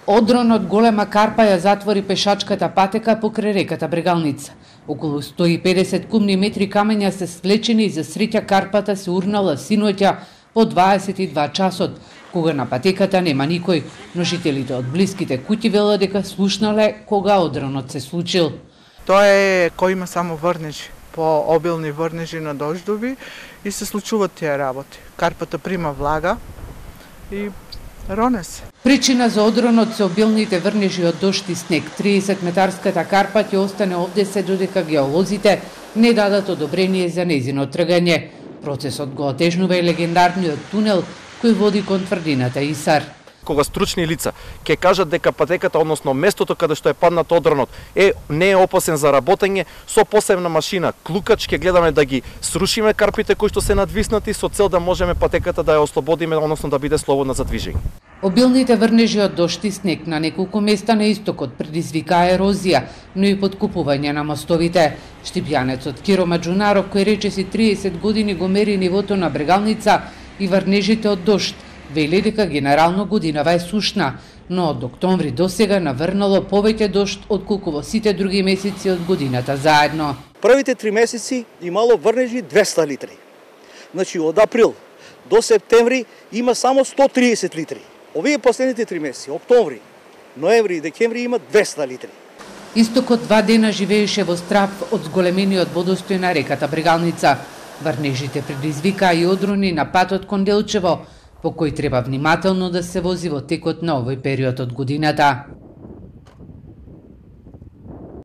Одрон од голема карпа ја затвори пешачката патека покрај реката Брегалница. Околу 150 кубни метри камења се свлечени и за среќа карпата се урнала синоќа по 22 часот, кога на патеката нема никој, но жителите од блиските куќи велат дека слушнале кога одронот се случил. Тоа е кој има само врнежи, по обилни врнежи на дождови и се случуваат тие работи. Карпата прима влага и роне се. Причина за одронот се обилните врнежи од дожд и снег. 30-метарската карпа ќе остане овде се додека геолозите не дадат одобрение за нејзино тргање. Процесот го отежнува и легендарниот тунел кој води кон тврдината Исар. Кога стручни лица ќе кажат дека патеката, односно местото каде што е паднат одронот, не е опасен за работење, со посебна машина клукач ќе гледаме да ги срушиме карпите кои што се надвиснати со цел да можеме патеката да ја ослободиме, односно да биде слободна за движење. Обилните врнежи од дожд и снег на неколку места на истокот предизвикаа ерозија, но и подкупување на мостовите. Штипјанецот Киро Маџунаров, кој речиси 30 години го мери нивото на Брегалница и врнежите од дожд, вели дека генерално годинава е сушна, но од октомври до сега наврнало повеќе дожд отколку во сите други месеци од годината заедно. Првите 3 месеци имало врнежи 200 литри. Значи од април до септември има само 130 литри. Овие последните 3 месеци, октомври, ноември и декември има 200 литри. Истокот 2 дена живееше во страв од зголемениот водостој на реката Брегалница. Врнежите предизвикаа и одрони на патот кон Делчево, по кој треба внимателно да се вози во текот на овој период од годината.